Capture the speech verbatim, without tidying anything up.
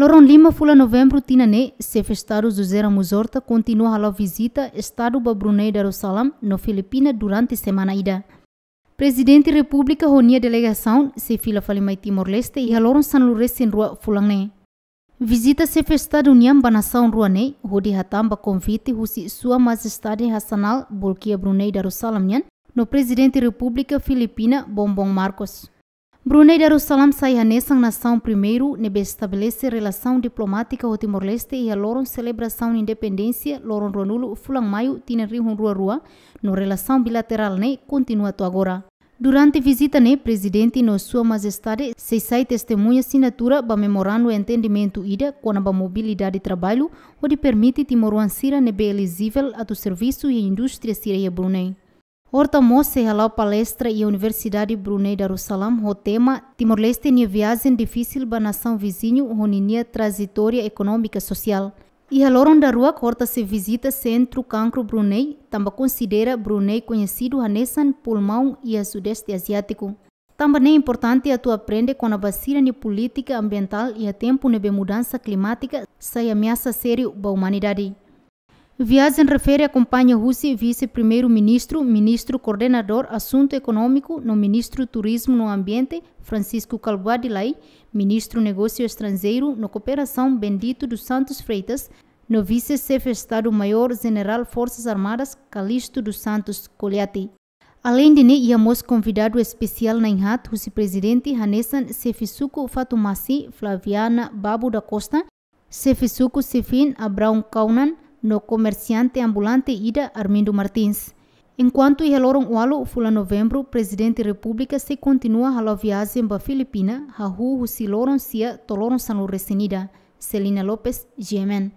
Loron lima fulan Novembru tinan ne'e, Xefe Estadu José Ramos Horta kontinua hala'o vizita Estadu ba Brunei Darussalam no Filipina durante semana ida. Prezidente Repúblika ho nia delegasaun sei fila fali mai Timor-Leste iha loron sanulu-resin-rua fulan ne'e. Vizita Xefe Estadu nian ba nasaun rua ne'e hodi hatán ba konvite husi Sua Majestade Hassanal Bolkiah Brunei Darussalam nian no Prezidente Repúblika Filipina Bongbong Marcos. Brunei Darussalam sai hanesan nasaun primeiru ne'ebé estabelese relasaun diplomátika ho Timor-Leste iha loron selebrasaun independénsia loron ruanulu fulan Maiu tinan rihun rua rua, no relasaun bilaterál ne'e kontinua to'o agora. Durante vizita ne'e, Prezidente no Sua Majestade sei sai testemuña asinatura ba memorandu entendimentu ida kona-ba mobilidade traballu, hodi permite timoroan sira ne'ebé elijivel atu servisu iha indústria sira iha Brunei. Horta mós sei hala'o palestra iha Universidade Brunei Darussalam ho tema Timor-Leste nia viajen difisil ba nasaun viziñu ho ninia trajetória ekonómika sosiál. Iha loron daruak, Horta sei vizita Sentru Kankru Brunei, tanba konsidera Brunei koñesidu hanesan pulmaun iha Sudeste Aziátiku. Tanba ne'e importante atu aprende kona-ba sira-nia polítika ambientál iha tempu ne'ebé mudansa klimátika sai ameasa sériu ba umanidade. Viajen refere akompaña husi Vise-Primeiru-Ministru, Ministru Koordenadór Asuntu Ekonómiku no Ministru Turizmu no Ambiente, Francisco Kalbuadi Lay, Ministru Negósiu Estranjeiru no Kooperasaun, Bendito dos Santos Freitas, no Vise-Xefe Estadu-Maiór Jenerál Forsas Armadas, Calixto dos Santos Coliati. Aleinde ne'e, iha mós konvidadu espesiál na'in-haat husi Prezidente, hanesan Xefe Suku Fatumasi, Flaviana Babu da Costa, Xefe Suku Sifin, Abraão Kaunan, no komersiante ambulante ida, Armindo Martins. Enkuantu iha loron ualu fulan Novembru, Prezidente Repúblika sei kontinua hala'o viajen ba Filipina, hahú husi loron sia to'o loron sanulu-resin-ida. Celina Lopes, G M N.